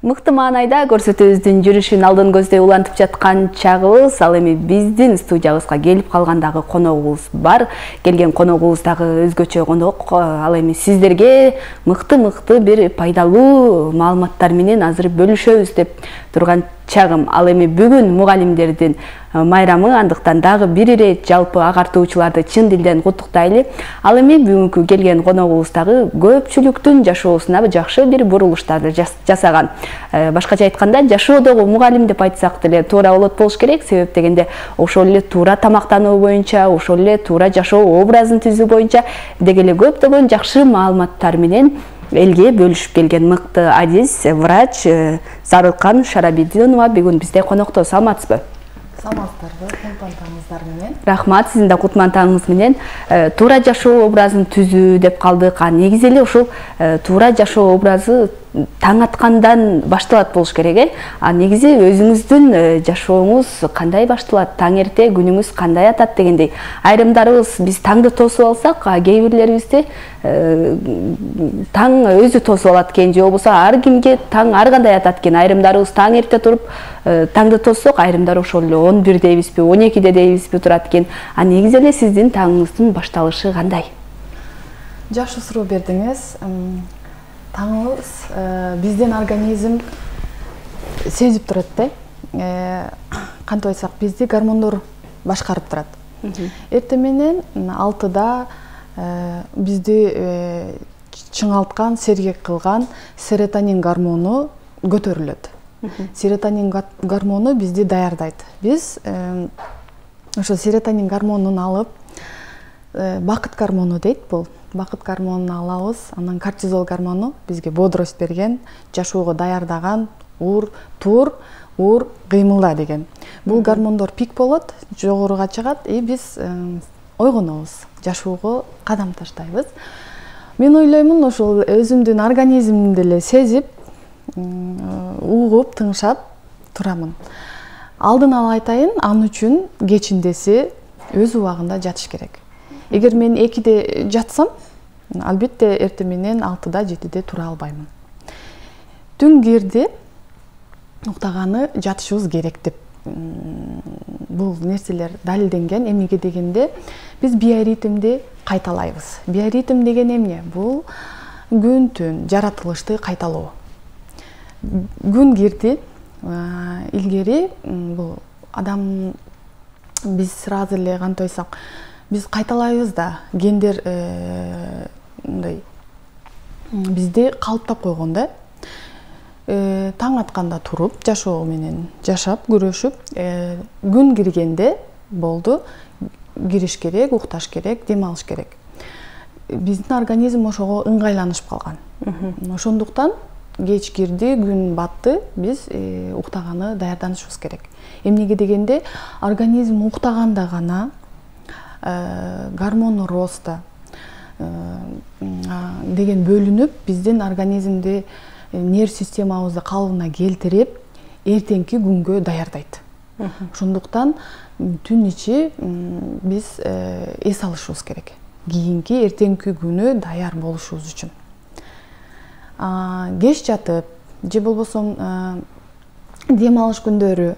Мыкты маанайда көрсөтүүбүздүн жүрүшүн алдын көздөй улантып жаткан чагыбыз, ал эми биздин студиябызга келип калгандагы коногубуз бар. Келген коногубуз дагы өзгөчө конок. Ал эми сиздерге мыкты бир пайдалуу маалыматтар менен азыр бөлүшөбүз деп турган чагым. Ал эми бүгүн мугалимдердин майрамы, андыктан дагы бир ирет жалпы агартуучуларды чын дилден куттуктайлы. Ал эми бүгүнкү келген коногубуз дагы көпчүлүктүн жашоосуна жакшы бир бурулуштарды жасаган. Башкача айтканда, жашоодогу мугалим деп айтсак деле туура болот болуш керек. Себеп дегенде, ошол эле туура тамактануу боюнча, ошол эле туура жашоо образын түзүү боюнча деги эле көптөгөн жакшы маалыматтар менен элге бөлүшүп келген мыкты адис, врач Зарылкан Шарабидинова бүгүн бизде конокто. Саламатсызбы? Саламатсыздарбы, кутман таңыңыздар менен. Рахмат, сиздин да кутман таңыңыз менен. Туура жашоо образын түзүү деп калдык. Негизи эле ушул туура жашоо образы таң аткандан башталат болуш керек, негизи өзүңүздүн жашооңуз кандай башталат, таң эрте күнүңүз кандай атат дегендей. Айрымдарыбыз биз таңды тосуп алсак, кээ бирлерибизде таң өзү тосуп алат экен, же болбосо ар кимге таң ар кандай атат экен. Айрымдарыбыз таң эрте туруп таңды тоссок, айрымдар ошол эле 11 дейбизби, 12 дейбизби турат экен. Негизи эле сиздин таңыңыздын башталышы кандай? Жакшы суроо бердиңиз. Таңыбыз биздин организм сезип турат да. Кантип айтсак, бизди гормондор башкарып турат. Эртең менен 6да бизди чыңалткан, сергек кылган серотонин гормону көтөрүлөт. Серотонин гормону бизди даярдайт. Биз ошо серотонин гормонун алып, бакыт гормону дейт бул. Бакыт гормонун алабыз, анан кортизол гормону бизге бодрость берген, жашоого даярдаган, тур, кыймылда деген. Бул гормондор пик болот, жогоруга чыгат, биз ойгонобуз, жашоого кадам таштайбыз. Мен ойлоймун, ошол өзүмдүн организмимди эле сезип, угуп, тыңшап турамын. Алдын ала айтайын, ал үчүн кечиндеси өз убагында жатыш керек. Эгер мен 2де жатсам, албетте эртең менен 6да, 7де тура албаймын. Түн кирди, уктаганы жатышыбыз керек деп бул нерселер далилденген. Эмнеге дегенде, биз биоритмди кайталайбыз. Биоритм деген эмне? Бул күн-түн жаратылышты кайталоо. Күн кирди, илгери бул адам биз сразу эле кантип айтсак, биз кайталайбыз да, гендер мындай бизди калыптап койгон да. Таң атканда туруп, жашоо менен жашап, күрөшүп, күн киргенде болду, кириш керек, укташ керек, дем алыш керек. Биздин организм ошого ыңгайланышып калган. Ошондуктан кеч кирди, күн батты, биз уктаганы даярданышыбыз керек. Эмнеге дегенде, организм уктаганда гана гормон роста деген бөлүнүп, биздин организмди, нерв системабызды калыбына келтирип, эртеңки күнгө даярдайт. Ошондуктан түн ичи биз эс алышыбыз керек. Кийинки эртеңки күнү даяр болушубуз үчүн. Кеч жатып, же болбосо дем алыш күндөрү,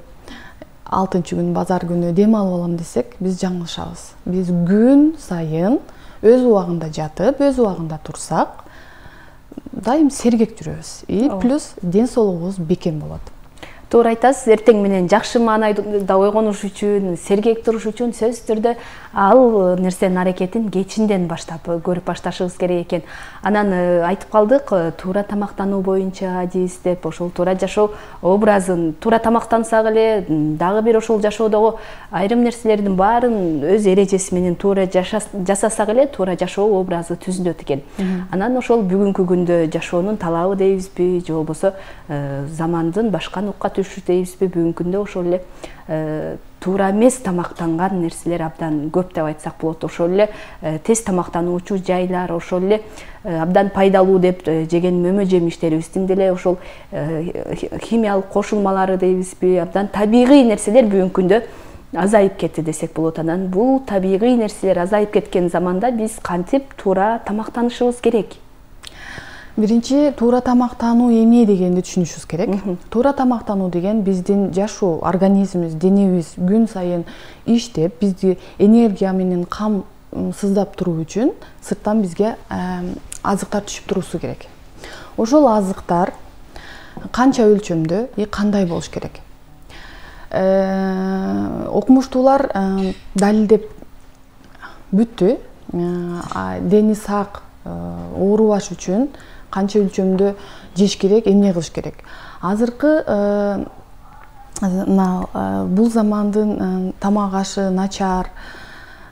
6-күн, базар күнү дем алып алам десек, биз жаңылышабыз. Биз күн сайын өз убагында жатып, өз убагында турсак, дайым сергек жүрөбүз. Плюс ден соолугубуз бекем болот. Туура айтасыз, эртең менен жакшы маанайда ойгонуш үчүн, сергек туруш үчүн сөзсүз түрдө ал нерсенин аракетин кечинден баштап көрүп башташыбыз керек экен. Анан айтып калдык, туура тамактануу боюнча адис деп, ошол туура жашоо образын туура тамактансак эле, дагы бир ошол жашоодогу айрым нерселердин баарын өз эрежеси менен туура жасасак эле, туура жашоо образы түзүлөт экен. Анан ошол бүгүнкү күндө жашоонун талабы дейбизби, же болбосо замандын башка нукка түшүш дейбизби, бүгүнкү күндө ошол эле туура эмес тамактанган нерселер абдан көп деп айтсак болот. Ошол эле тез тамактануучу жайлар, ошол эле абдан пайдалуу деп жеген мөмө жемиштерибиздин деле ошол химиялык кошулмалары дейбизби, абдан табигый нерселер бүгүнкү күндө азайып кетти десек болот. Анан бул табигый нерселер азайып кеткен заманда биз кантип туура тамактанышыбыз керек? Биринчи, туура тамактануу эмне дегенди түшүнүшүбүз керек. Туура тамактануу деген биздин жашоо, организмибиз, денебиз күн сайын иштеп, бизди энергия менен кам сыздап туруу үчүн сырттан бизге азыктар түшүп туруусу керек. Ошол азыктар канча өлчөмдө и кандай болуш керек? Окумуштуулар далилдеп бүттү. Дени сак, оорубаш үчүн канча өлчөмдө жеш керек, эмне кылыш керек. Азыркы бул замандын тамак ашы начар,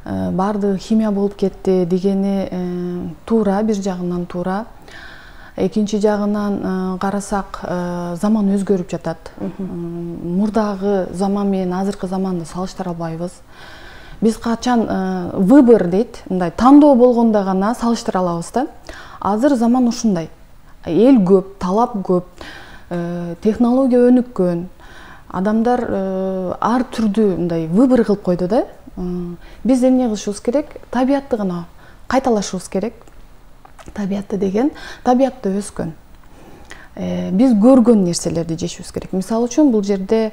баардыгы химия болуп кетти дегени туура, бир жагынан туура. Экинчи жагынан карасак, заман өзгөрүп жатат. Мурдагы заман менен азыркы заманды салыштыра албайбыз. Биз качан выбор дейт, мындай тандоо болгондо гана салыштыра алабыз да. Азыр заман ушундай. Эл көп, талап көп, технология өнүккөн. Адамдар ар түрдүү мындай выбор кылып койду да. Биз эмне кылышыбыз керек? Табиятты гана кайталашыбыз керек. Табиятты деген табиятта өскөн. Биз көргөн нерселерди жешибиз керек. Мисалы үчүн бул жерде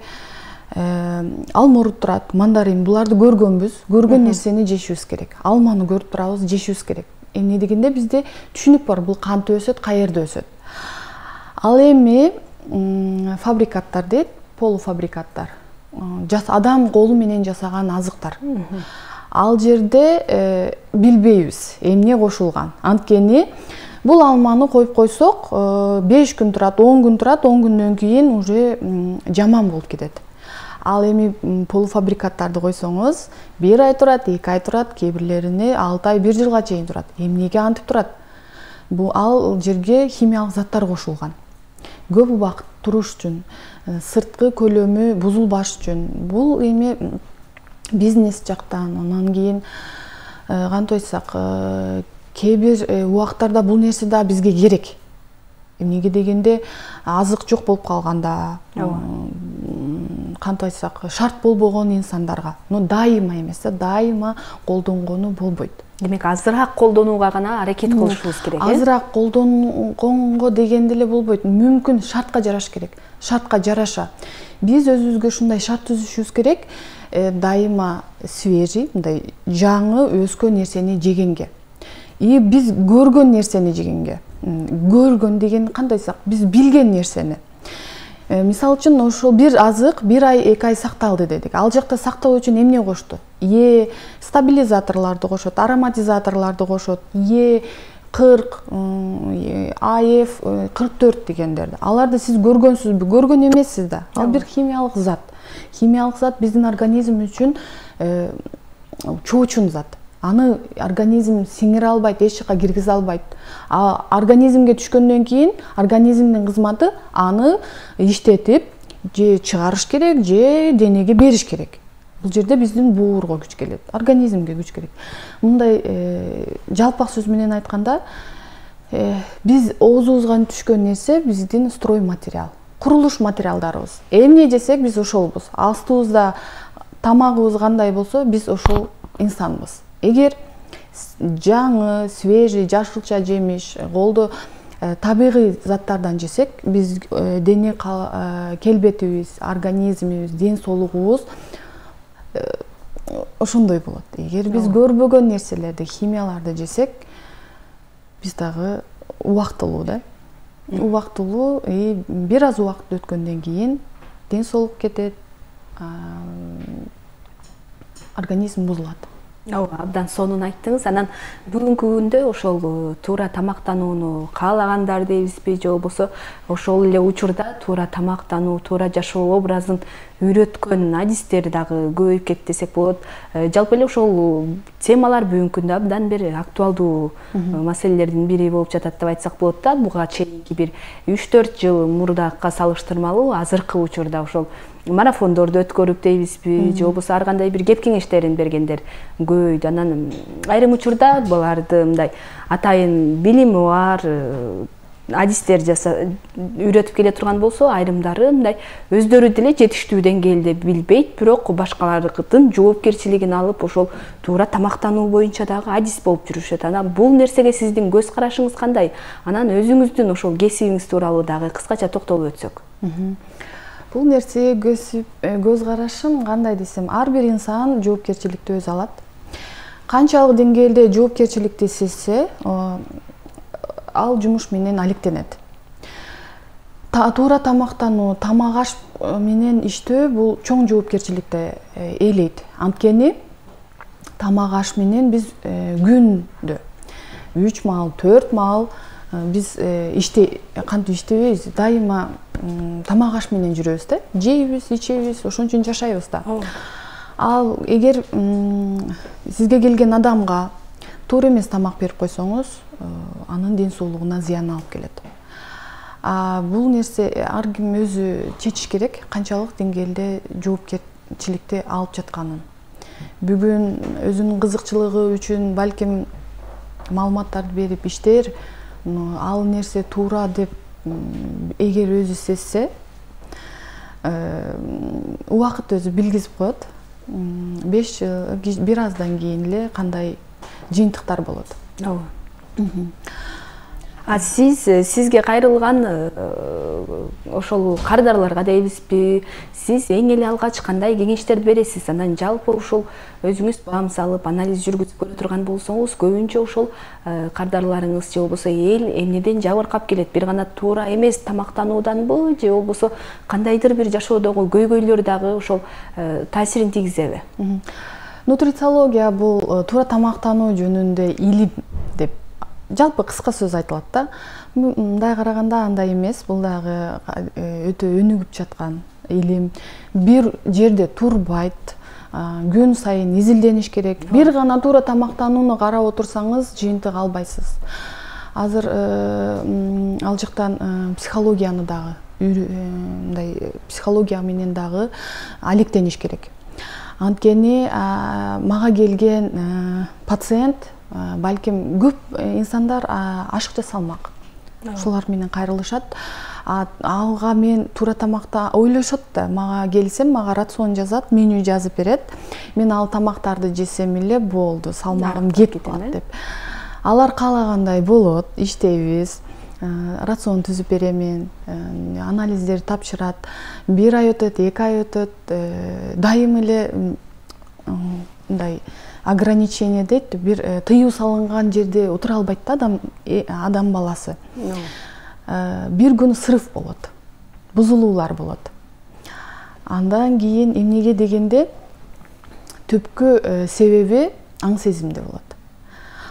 алмурут турат, мандарин, буларды көргөнбүз, көргөн нерсени жешибиз керек. Алманы көрүп турабыз, жешибиз керек. Эмне дегенде бизде түшүнүк бар, бул кантип өсөт, каерде өсөт. Ал эми фабрикаттар дейт, полуфабрикаттар. Адам колу менен жасаган азыктар. Ал жерде билбейбиз эмне кошулган. Анткени бул алманы коюп койсок, 5 күн турат, 10 күн турат, 10 күндөн кийин уже жаман болуп кетет. Ал эми полуфабрикаттарды койсоңуз, 1 ай турат, 2 ай турат, кээ бирлерине 6 ай, 1 жылга чейин турат. Эмнеге антип турат? Бул ал жерге химиялык заттар кошулган. Көп убакыт туруш үчүн, сырткы көлөмү бузулбаш үчүн. Бул эми бизнес жактан, анан кийин кантип айтсак, кээ бир убактарда бул нерсе да бизге керек. Эмнеге дегенде азык жок болуп калганда, кантип айтсак, шарт болбогон инсандарга, но дайыма эмес, дайыма колдонгону болбойт. Демек, азыраак колдонууга гана аракет кылышыбыз керек, э? Азыраак колдонгонго дегенде эле болбойт. Мүмкүн шартка жараш керек. Шартка жараша. Биз өзүбүзгө ушундай шарт түзүшүбүз керек. Дайыма свежий, мындай жаңы өскөн нерсени жегенге. И биз көргөн нерсени жегенге. Көргөн деген кандай айтсак, биз билген нерсени. Мисалы үчүн ошол бир азык 1 ай, 2 ай сакталды дедик. Ал жакта сактоо үчүн эмне кошту? Стабилизаторлорду кошот, ароматизаторлорду кошот, E40, AF 44 дегендерди. Аларды сиз көргөнсүзбү? Көргөн эмессиз да. Ал бир химиялык зат. Химиялык зат биздин организм үчүн чоочун зат. Аны организм сиңире албайт, эч жака киргизе албайт. Организмге түшкөндөн кийин организмдин кызматы аны иштетип, же чыгарыш керек, же денеге бериш керек. Бул жерде биздин буурга күч келет, организмге күч керек. Мындай жалпак сөз менен айтканда, биз оозубузга түшкөн нерсе биздин строй материал, курулуш материалдарыбыз. Эмне жесек биз ошолбуз. Астыбызда тамагыбыз кандай болсо, биз ошол инсанбыз. Эгер жаңы, свежий, жашылча жемиш, колдо табигый заттардан жесек, биз дене келбетибиз, организмибиз, ден соолугубуз ошондой болот. Эгер биз көрбөгөн нерселерди, химияларды жесек, биз дагы убактылуу да. Убактылуу, бир аз убакыт өткөндөн кийин ден соолук кетет, организм бузулат. Абдан сонун айттыңыз. Анан бүгүнкү күндө ошол туура тамактанууну каалагандар дейбизби, же болбосо ошол эле учурда туура тамактануу, туура жашоо образын үйрөткөн адистер дагы көбөйүп кетти десек болот. Жалпы эле ошол темалар бүгүнкү күндө абдан бир актуалдуу маселелердин бири болуп жатат деп айтсак болот да. Буга чейинки бир 3-4 жыл мурдакка салыштырмалуу азыркы учурда ошол марафондорду өткөрүп дейбизби, же болбосо ар кандай бир кеп кеңештерин бергендер көбөйдү. Анан айрым учурда буларды мындай атайын билими бар, адистер үйрөтүп келе турган болсо, айрымдары мындай өздөрү деле жетиштүү деңгээлде билбейт, бирок башкалардын жоопкерчилигин алып ошол туура тамактануу боюнча дагы адис болуп жүрүшөт. Анан бул нерсеге сиздин көз карашыңыз кандай? Анан өзүңүздүн ошол кесибиңиз тууралуу дагы кыскача токтолуп өтсөк. Бул нерсеге көз карашым кандай десем, ар бир инсан жоопкерчиликти өзү алат. Канчалык деңгээлде жоопкерчиликти сезсе, ал жумуш менен алектенет. Туура тамактануу, тамак аш менен иштөө бул чоң жоопкерчиликти ээлейт. Анткени тамак аш менен биз күндө 3 маал, 4 маал биз кантип иштебейбиз, дайыма тамак аш менен жүрөбүз да. Жейбиз, ичебиз, ошон үчүн жашайбыз да. Ал эгер сизге келген адамга туура эмес тамак берип койсоңуз, анын ден соолугуна зыян алып келет. Бул нерсе ар ким өзү чечиш керек, канчалык деңгээлде жоопкерчиликти алып жатканын. Бүгүн өзүнүн кызыкчылыгы үчүн балким маалыматтарды берип иштер, ал нерсе туура деп эгер өзү сезсе, убакыт өзү билгизип коет. 5 жыл, бир аздан кийин эле кандай жыйынтыктар болот. Сизге кайрылган ошол кардарларга дейбизби, сиз эң эле алгач кандай кеңештерди бересиз? Анан жалпы ушул өзүңүз баам салып, анализ жүргүзүп көрө турган болсоңуз, көбүнчө ошол кардарларыңыз же болбосо эл эмнеден жабыркап келет? Бир гана туура эмес тамактанууданбы, же болбосо кандайдыр бир жашоодогу көйгөйлөр дагы ошол таасирин тийгизеби? Нутрициология бул туура тамактануу жөнүндө илим деп жалпы кыска сөз айтылат да. Мындай караганда андай эмес, бул дагы өтө өнүгүп жаткан илим. Бир жерде турбайт, күн сайын изилдениш керек. Бир гана туура тамактанууну карап отурсаңыз, жыйынтык албайсыз. Азыр ал жактан психологияны дагы, мындай психология менен дагы алектениш керек. Анткени мага келген пациент балким көп инсандар ашыкча салмак. Ошолар менен кайрылышат. Алга мен туура тамакта ойлошот да, мага келсем, мага рацион жазат, меню жазып берет. Мен ал тамактарды жесем эле болду, салмагым кетип калат деп. Алар каалагандай болот, иштейбиз. Рацион түзүп беремен, анализдерди тапшырат. 1 ай өтөт, 2 ай өтөт, дайым эле мындай ограничение дейт, бир тыюу салынган жерде отура албайт да адам баласы. Бир күн срыв болот, бузулуулар болот. Андан кийин эмнеге дегенде түпкү себеби аң сезимде болот.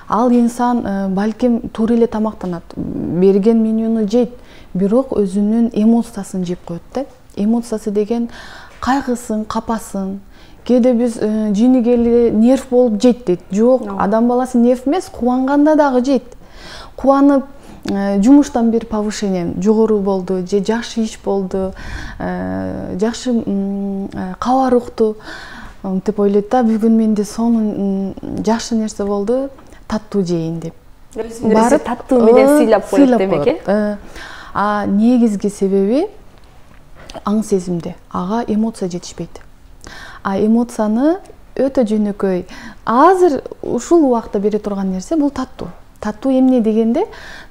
Ал инсан балким туура эле тамактанат, берген менюну жейт, бирок өзүнүн эмоциясын жеп коет да. Эмоциясы деген кайгысын, капасын. Кээде биз жийнигели нерв болуп жейт дейт. Жок, адам баласы нерв эмес, кубанганда дагы жейт. Кубанып, жумуштан бир повышение жогору болду, же жакшы иш болду, жакшы кабар укту деп ойлойт да, бүгүн менде сонун жакшы нерсе болду, таттуу жейин деп. Барып таттуу менен сыйлап коет демек, э? Негизги себеби аң сезимде. Ага эмоция жетишпейт. Эмоцияны өтө жөнөкөй, азыр ушул убакта бере турган нерсе бул таттуу. Таттуу эмне дегенде,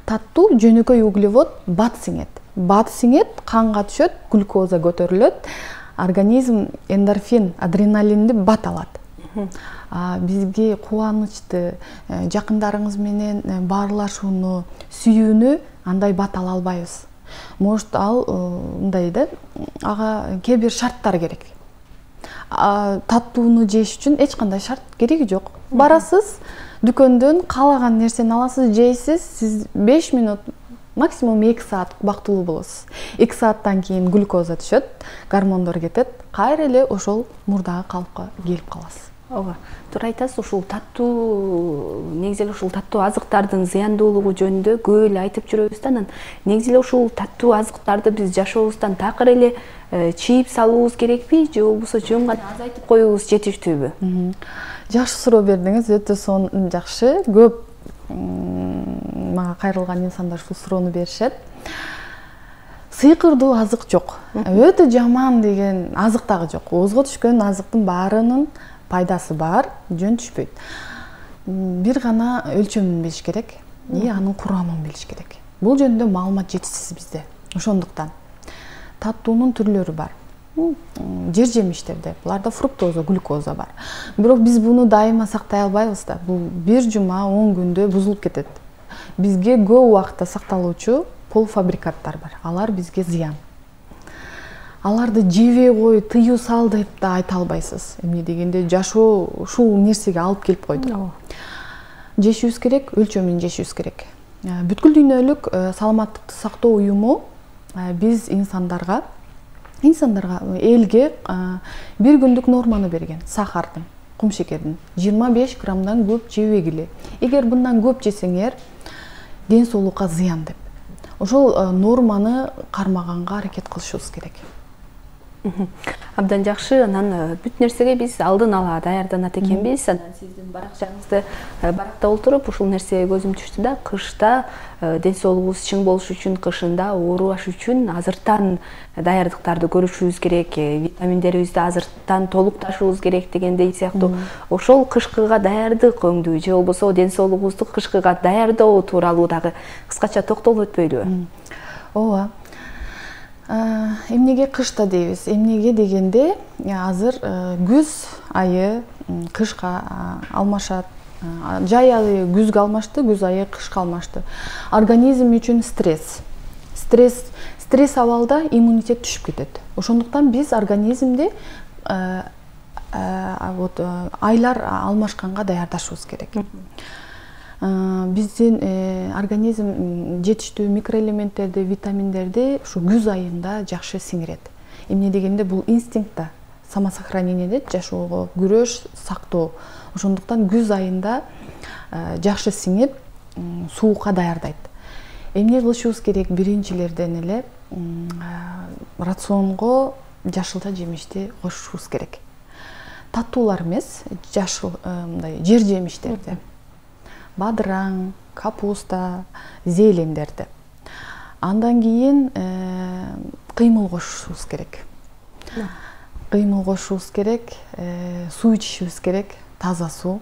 таттуу жөнөкөй углевод бат сиңет. Бат сиңет, канга түшөт, глюкоза көтөрүлөт, организм эндорфин, адреналинди бат алат. Бизге кубанычты, жакындарыңыз менен баарлашууну, сүйүүнү андай бат ала албайбыз. Может, ал мындай да, ага кээ бир шарттар керек. Таттууну жеш үчүн эч кандай шарт кереги жок. Барасыз, дүкөндөн каалаган нерсени аласыз, жейсиз, сиз 5 минут, максимум 2 саат бактылуу болосуз. 2 сааттан кийин глюкоза түшөт, гормондор кетет, кайра эле ошол мурдагы калыпка келип каласыз. Ооба, туура айтасыз, ушул таттуу, негизи эле ушул таттуу азыктардын зыяндуулугу жөнүндө көп эле айтып жүрөбүз да, анан негизи эле ушул таттуу азыктарды биз жашообуздан такыр эле чийип салуубуз керекпи, же болбосо жөн гана азайтып коюубуз жетиштүүбү? Жакшы суроо бердиңиз, өтө жакшы. Көп мага кайрылган инсандар ушул суроону беришет. Сыйкырдуу азык жок. Өтө жаман деген азык дагы жок. Оозго түшкөн азыктын баарынын пайдасы бар, жөн түшпөйт. Бир гана өлчөмүн билиш керек, анын курамын билиш керек. Бул жөнүндө маалымат жетишсиз бизде. Ошондуктан таттуунун түрлөрү бар. Жер жемиштерде буларда фруктоза, глюкоза бар. Бирок биз буну дайыма сактай албайбыз да. Бул бир жума, 10 күндө бузулуп кетет. Бизге көп убакытта сакталуучу полуфабрикаттар бар. Алар бизге зыян. Аларды жебей кой, тыюу сал деп да айта албайсыз. Эмне дегенде жашоо ушул нерсеге алып келип койду. Жешибиз керек, өлчөмүн жешибиз керек. Бүткүл дүйнөлүк саламаттыкты сактоо уюму биз инсандарга, элге бир күндүк норманы берген. Сахардын, кумшекердин 25 граммдан көп жебегиле. Эгер bundan көп жесеңер, ден соолукка зыян деп. Ошол норманы кармаганга аракет кылышыбыз керек. Абдан жакшы. Анан бүт нерсеге биз алдын ала даярданат экенбиз. Анан сиздин баракчаңызды баракта отуруп ушул нерсеге көзүм түштү да, кышта ден соолугубуз чың болуш үчүн, кышында оорубаш үчүн азырттан даярдыктарды көрүшүбүз керек, витаминдерибизди азырттан толукташыбыз керек дегендей сыяктуу. Ошол кышкыга даярдык өңдүү же болбосо ден соолугубузду кышкыга даярдоо тууралуу дагы кыскача токтолуп өтпөйлүбү? Ооба. Эмнеге кышта дейбиз? Эмнеге дегенде, азыр күз айы кышка алмашат. Жай айы күзгө алмашты, күз айы кышка алмашты. Организм үчүн стресс абалда иммунитет түшүп кетет. Ошондуктан биз организмди айлар алмашканга даярдашыбыз керек. Биздин организм жетиштүү микроэлементтерди, витаминдерди ушу күз айында жакшы сиңирет. Эмне дегенде бул инстинкт, самосохранение дейт, жашоого күрөш, сактоо. Ошондуктан күз айында жакшы сиңип, суукка даярдайт. Эмне кылышыбыз керек? Биринчилерден эле рационго жашылча жемишти кошушубуз керек. Таттуулар эмес, жашыл мындай жер жемиштерди. Бадыраң, капуста, зелендерди. Андан кийин кыймыл кошушубуз керек. Кыймыл кошушубуз керек, суу ичишибиз керек, таза суу.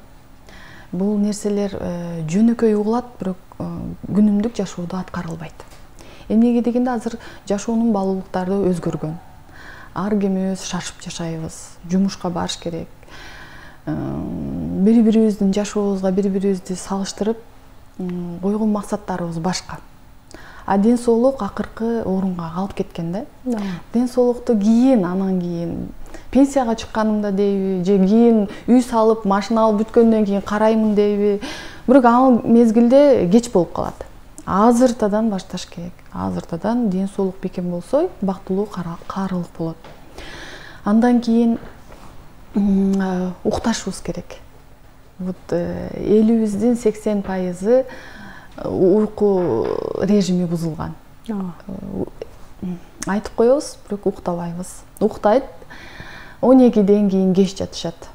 Бул нерселер жөнөкөй угулат, бирок күнүмдүк жашоодо аткарылбайт. Эмнеге дегенде азыр жашоонун баалуулуктары өзгөргөн. Ар кимибиз шашып жашайбыз, жумушка барыш керек. Бири-бирибиздин жашообузга бири-бирибизди салыштырып койгон максаттарыбыз башка. Ден соолук акыркы орунга калып кеткен да. Ден соолукту анан кийин пенсияга чыкканымда дейби, же кийин үй салып, машина алып бүткөндөн кийин караймын дейби. Бирок ал мезгилде кеч болуп калат. Азыртадан башташ керек. Азыртадан ден соолук бекем болсо, бактылуу каарылык болот. Андан кийин укташыбыз керек. Элибиздин 80% уйку режими бузулган. Айтып коебуз, бирок уктабайбыз. Уктайт, 12ден кийин кеч жатышат.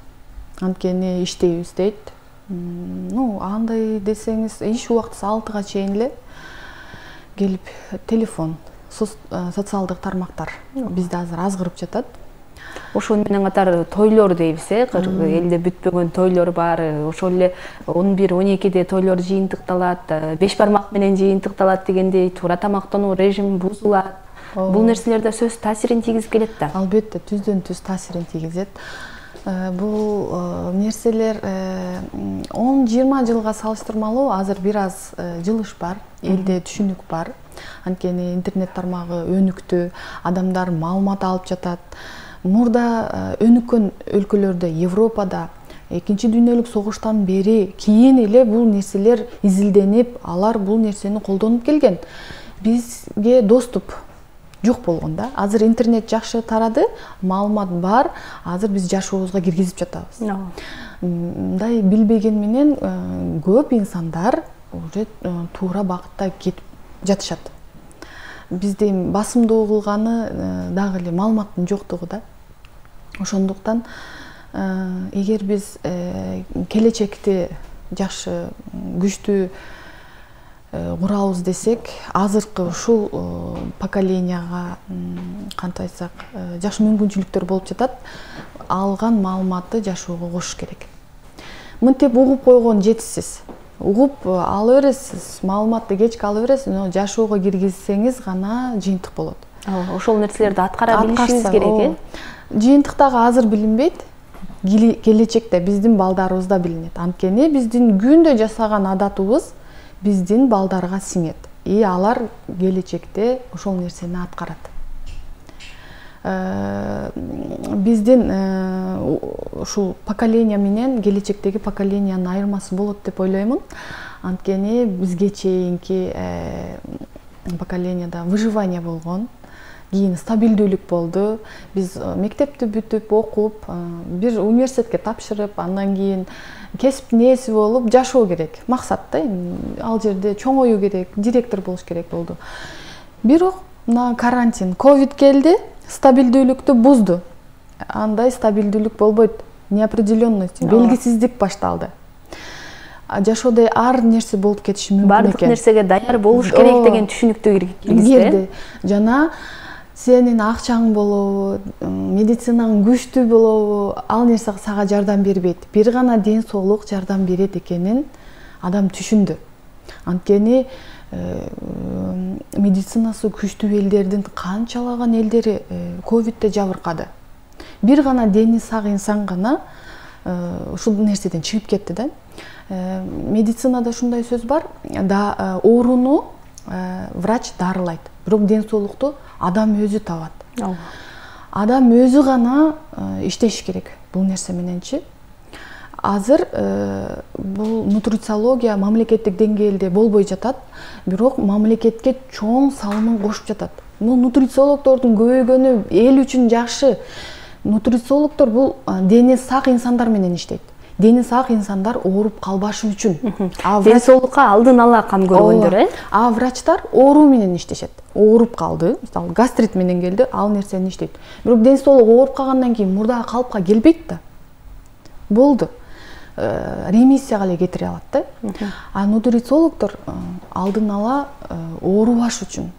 Анткени иштейбиз дейт. Андай десеңиз, иш убактысы 6га чейин эле келип телефон, социалдык тармактар бизде азыр азгырып жатат. Ошол менен катар тойлор дейбиз, элде бүтпөгөн тойлор бар. Ошол эле 11-12де тойлор жыйынтыкталат, 5 бармак менен жыйынтыкталат дегендей туура тамактануу режими бузулат. Бул нерселерде сөз таасирин тийгизип келет да. Албетте, түздөн түз таасирин тийгизет. Бул нерселер 10-20 жылга салыштырмалуу азыр бир аз жылыш бар, элде түшүнүк бар. Анткени интернет тармагы өнүктү, адамдар маалымат алып жатат. Мурда өнүккөн өлкөлөрдө, Европада 2-дүйнөлүк согуштан бери кийин эле бул нерселер изилденип, алар бул нерсени колдонуп келген. Бизге доступ жок болгон да. Азыр интернет жакшы тарады, маалымат бар, азыр биз жашообузга киргизип жатабыз. Мындай билбеген менен көп инсандар уже туура багытта кетип жатышат. Бизде басымдуу кылганы дагы эле маалыматтын жоктугу да. Ошондуктан эгер биз келечекти жакшы күчтүү курабыз десек, азыркы ушул поколенияга кантип айтсак, жакшы мүмкүнчүлүктөр болуп жатат. Алган маалыматты жашоого кошуш керек. Мынтип угуп койгон жетишсиз. Угуп ала бересиз, маалыматты кечке ала бересиз, но жашоого киргизсеңиз гана жыйынтык болот. Ошол нерселерди аткара билишибиз керек, Жыйынтыктагы азыр билинбейт, келечекте биздин балдарыбызда билинет. Анткени биздин күндө жасаган адатыбыз биздин балдарга сиңет. Алар келечекте ошол нерсени аткарат. Биздин ушул поколения менен келечектеги поколениянын айырмасы болот деп ойлоймун. Анткени бизге чейинки поколенияда выживание болгон, кийин стабилдүүлүк болду. Биз мектепти бүтүп, окуп, бир университетке тапшырып, андан кийин кесиптин ээси болуп жашоо керек. Максат да, ал жерде чоңоюу керек, директор болуш керек болду. Бирок мына карантин, ковид келди, стабилдүүлүктү бузду. Андай стабилдүүлүк болбойт. Неопределенность, белгисиздик башталды. Жашоодо ар нерсе болуп кетиши мүмкүн экен. Бардык нерсеге даяр болуш керек деген түшүнүктү киргизди. Жана сенин акчаң болобу, медицинаң күчтүү болобу, ал нерсе сага жардам бербейт. Бир гана ден соолук жардам берет экенин адам түшүндү. Анткени медицинасы күчтүү элдердин канчалаган элдери ковидте жабыркады. Бир гана дени сак инсан гана ушул нерседен чыгып кетти да. Медицинада ушундай сөз бар, ооруну врач дарылайт, бирок ден соолукту адам өзү табат. Адам өзү гана иштеш керек бул нерсе мененчи. Азыр бул нутрициология мамлекеттик деңгээлде болбой жатат, бирок мамлекетке чоң салымын кошуп жатат. Бул нутрициологдордун көбөйгөнү эл үчүн жакшы. Нутрициологдор бул дени сак инсандар менен иштейт. Дени сак инсандар ооруп калбашы үчүн. Ден соолукка алдын ала кам көргөндөр, врачтар ооруу менен иштешет. Ооруп калды, мисалы гастрит менен келди, ал нерсени иштейт. Бирок ден соолук ооруп калгандан кийин мурдагы калыпка келбейт да. Болду. Ремиссияга эле кетире алат да. А нутрициологдор алдын ала оорубаш үчүн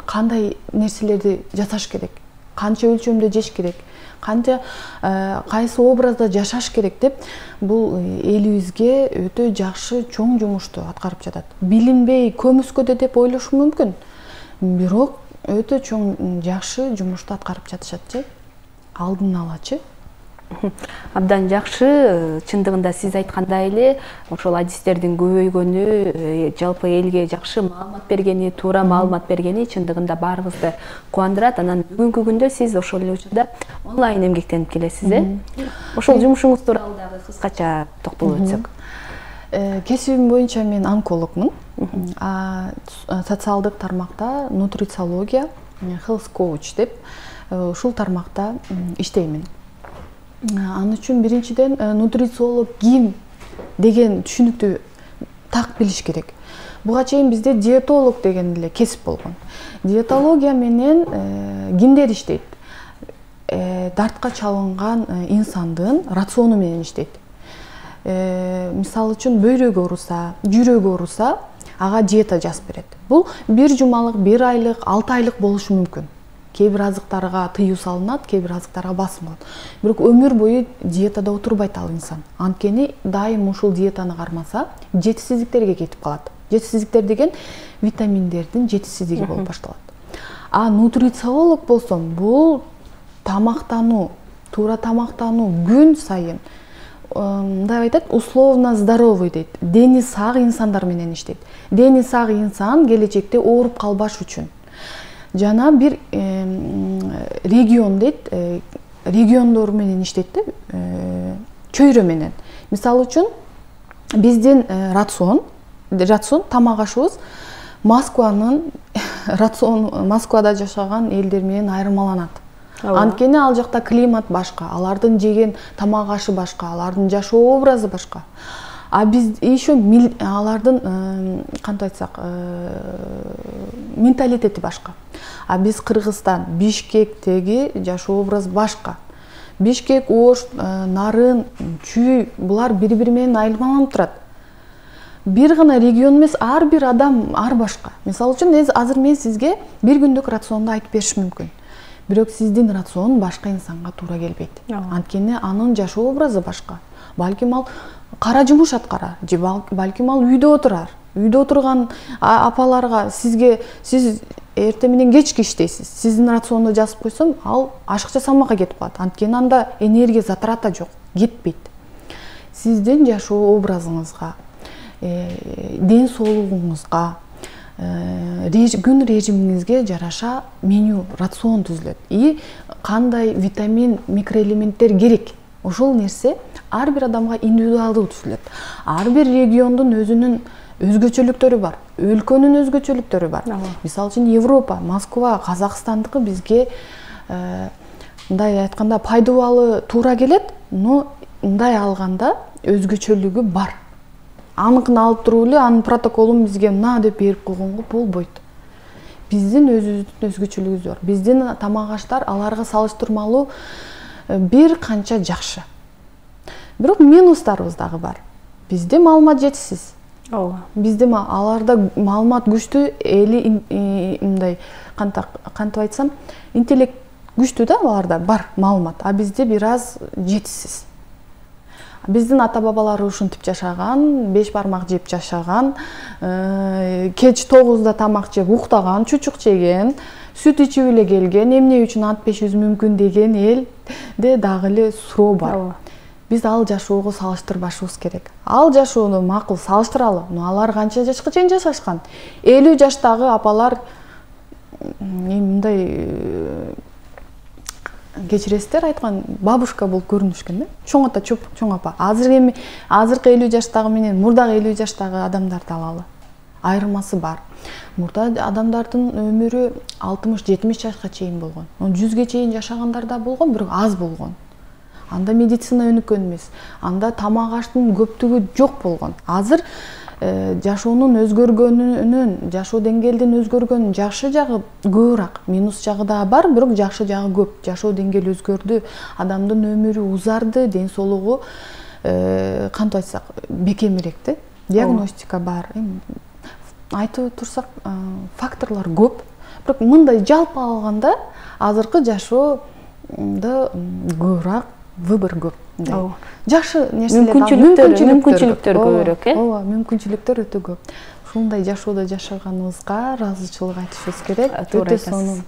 кандай нерселерди жасаш керек, канча өлчөмдө жеш керек, канча кайсы образда жашаш керек деп бул элибизге өтө жакшы чоң жумушту аткарып жатат. Билинбей көмүскөдө деп ойлошу мүмкүн, бирок өтө чоң жакшы жумушту аткарып жатышат, алдын алачы. Абдан жакшы, чындыгында сиз айткандай эле ошол адистердин көбөйгөнү, жалпы элге жакшы маалымат бергени, туура маалымат бергени чындыгында баарыбызды кубандырат. Анан бүгүнкү күндө сиз ошол эле учурда онлайн эмгектенип келесиз, Ошол жумушуңуз тууралуу дагы кыскача токтолуп өтсөк. Кесибим боюнча мен онкологмун. Социалдык тармакта нутрициология, health coach деп ушул тармакта иштеймин. Ан үчүн биринчиден нутрициолог ким деген түшүнүктү так билиш керек. Буга чейин бизде диетолог деген эле кесип болгон. Диетология менен кимдер иштейт? Дартка чалынган инсандын рациону менен иштейт. Мисалы үчүн бөйрөгү ооруса, жүрөгү ооруса, ага диета жазып берет. Бул 1 жумалык, 1 айлык, 6 айлык болушу мүмкүн. Кээ бир азыктарга тыюу салынат, кээ бир азыктарга басым болот. Бирок өмүр бою диетада отурбайт ал инсан. Анткени дайым ушул диетаны кармаса, жетишсиздиктерге кетип калат. Жетишсиздиктер деген витаминдердин жетишсиздиги болуп башталат. А нутрициолог болсом, бул тамактануу, туура тамактануу күн сайын мындай айтат, условно здоровый дейт. Дени сак инсандар менен иштейт. Дени сак инсан келечекте ооруп калбаш үчүн. Жана бир регион дейт, региондор менен иштейт да, чөйрө менен. Мисалы үчүн биздин рацион тамак ашыбыз Москванын Москвада жашаган элдер менен айырмаланат. Анткени ал жакта климат башка, алардын жеген тамак ашы башка, алардын жашоо образы башка. А биз еще алардын кантип айтсак, менталитети башка. А биз Кыргызстан, Бишкектеги жашоо образ башка. Бишкек, Ош, Нарын, Чүй булар бири-бири менен айырмаланып турат. бир гана регион эмес, ар бир адам ар башка. Мисалы үчүн азыр мен сизге бир күндүк рационду айтып беришим мүмкүн. Бирок сиздин рацион башка инсанга туура келбейт. Анткени анын жашоо образы башка. Балким ал кара жумуш аткарар, же балким ал үйдө отурар. Үйдө отурган апаларга сиз эртең менен кечки иштейсиз. Сиздин рационду жазып койсом, ал ашык жасамакка кетип калат. Анткени анда энергия затрата жок, кетпейт. Сиздин жашоо образыңызга, ден соолугуңузга, күн режимиңизге жараша меню, рацион түзүлөт. И кандай витамин, микроэлементтер керек. Ошол нерсе ар бир адамга индивидуалдуу түзүлөт. Ар бир региондун өзүнүн өзгөчөлүктөрү бар, өлкөнүн өзгөчөлүктөрү бар. Мисалы үчүн Европа, Москва, Казакстандыкы бизге мындай айтканда пайдалуу туура келет, но мындай алганда өзгөчөлүгү бар. Аныкын алып туруп эле анын протоколун бизге мына деп берип койгонго болбойт. Биздин өзүбүздүн өзгөчөлүгүбүз бар. Биздин тамак аштар аларга салыштырмалуу бир канча жакшы. Бирок минустарыбыз дагы бар. Бизде маалымат жетишсиз. Бизде аларда маалымат күчтүү, мындай кантип айтсам, интеллект күчтүү да, аларда бар маалымат, а бизде бир аз жетишсиз. Биздин ата-бабалар ушинтип жашаган, 5 бармак жеп жашаган, кеч 9-да тамак жеп уктаган, чучук жеген, сүт ичип эле келген, эмне үчүн ат пешиз мүмкүн деген элде дагы эле суроо бар. Биз ал жашоого салыштырбашыбыз керек. Ал жашоону макул салыштыралы, но алар канча жашка чейин жашашкан? 50 жаштагы апалар мындай кечиресиздер айткан бабушка болуп көрүнүшкөн да. Чоң ата, чоң апа. Азыркы 50 жаштагы менен мурдагы 50 жаштагы адамдарды алалы. Айырмасы бар. Мурда адамдардын өмүрү 60-70 жашка чейин болгон. 100ге чейин жашагандар да болгон, бирок аз болгон. Анда медицина өнүккөн эмес. Анда тамак аштын көптүгү жок болгон. Азыр жашоонун өзгөргөнүнөн, жашоо деңгээлдин өзгөргөнүнүн жакшы жагы көбүрөөк, минус жагы да бар, бирок жакшы жагы көп. Жашоо деңгээли өзгөрдү, адамдын өмүрү узарды, ден соолугу кантип айтсак, бекемирээк. Диагностика бар. Айтып турсак, факторлор көп. Бирок мындай жалпы алганда азыркы жашоодо көбүрөөк выбор көп. Жакшы нерселер, мүмкүнчүлүктөр көбүрөөк, Ооба, мүмкүнчүлүктөр өтө көп. Ушундай жашоодо жашаганыбызга ыраазычылык айтышыбыз керек. Өтө сонун.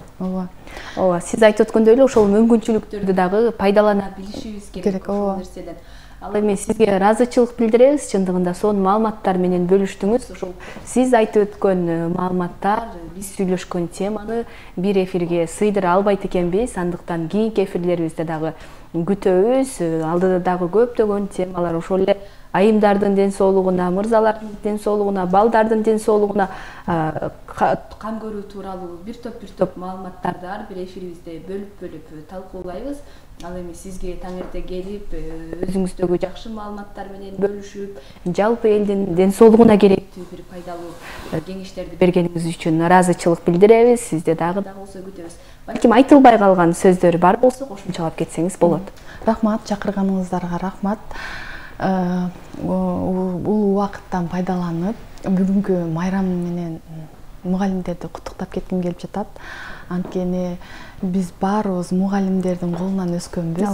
Ооба, сиз айтып өткөндөй эле ошол мүмкүнчүлүктөрдү дагы пайдалана билишибиз керек ошол нерседен. Ал эми сизге ыраазычылык билдиребиз, чындыгында сонун маалыматтар менен бөлүштүңүз. Ошол сиз айтып өткөн маалыматтар, биз сүйлөшкөн теманы бир эфирге сыйдыра албайт экенбиз. Андыктан кийинки эфирлерибизде дагы күтөбүз. Алдыда дагы көптөгөн темалар, ошол эле айымдардын ден соолугуна, мырзалардын ден соолугуна, балдардын ден соолугуна кам көрүү тууралуу бир топ маалыматтарды ар бир эфирибизде бөлүп талкуулайбыз. Ал эми сизге таң эрте келип, өзүңүздөгү жакшы маалыматтар менен бөлүшүп, жалпы элдин ден соолугуна керектүү бир пайдалуу кеңештерди бергениңиз үчүн ыраазычылык билдиребиз. Сизде дагы болсо күтөбүз. Балким айтылбай калган сөздөр бар болсо кошумчалап кетсеңиз болот. Рахмат, чакырганыңыздарга рахмат. Бул убакыттан пайдаланып, бүгүнкү майрам менен мугалимдерди куттуктап кетким келип жатат. Анткени биз баарыбыз мугалимдердин колунан өскөнбүз.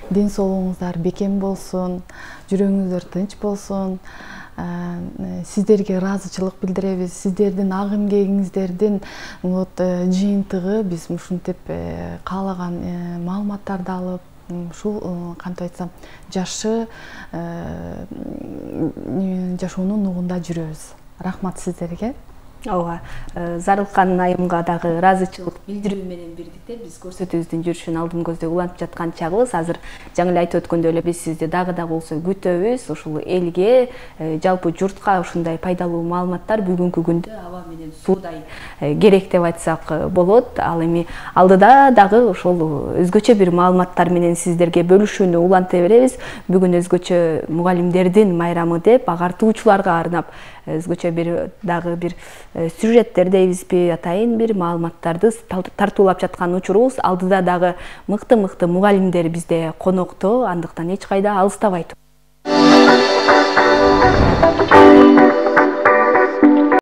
Ден соолугуңуздар бекем болсун, жүрөгүңүздөр тынч болсун. Сиздерге ыраазычылык билдиребиз. Сиздердин ак эмгегиңиздердин жыйынтыгы биз ушинтип каалаган маалыматтарды алып, ушул кантип айтсам, жакшы жашоонун нугунда жүрөбүз. Рахмат сиздерге. Ооба, Зарылкан айымга дагы ыраазычылык билдирүү менен бирдикте биз көрсөтүүбүздүн жүрүшүн алдын көздөй улантып жаткан чагыбыз. Азыр жаңы эле айтып өткөндөй эле биз сизди дагы болсо күтөбүз. Ушул элге, жалпы журтка ушундай пайдалуу маалыматтар бүгүнкү күндө аба менен суудай керек деп айтсак болот. Ал эми алдыда дагы ошол өзгөчө бир маалыматтар менен сиздерге бөлүшүүнү уланта беребиз. Бүгүн өзгөчө мугалимдердин майрамы деп агартуучуларга арнап өзгөчө дагы бир сюжеттер дейбизби, атайын бир маалыматтарды тартуулап жаткан учурубуз. Алдыда дагы мыкты мугалимдер бизде конокто, андыктан эч кайда алыстабай туруңуздар. Thank you.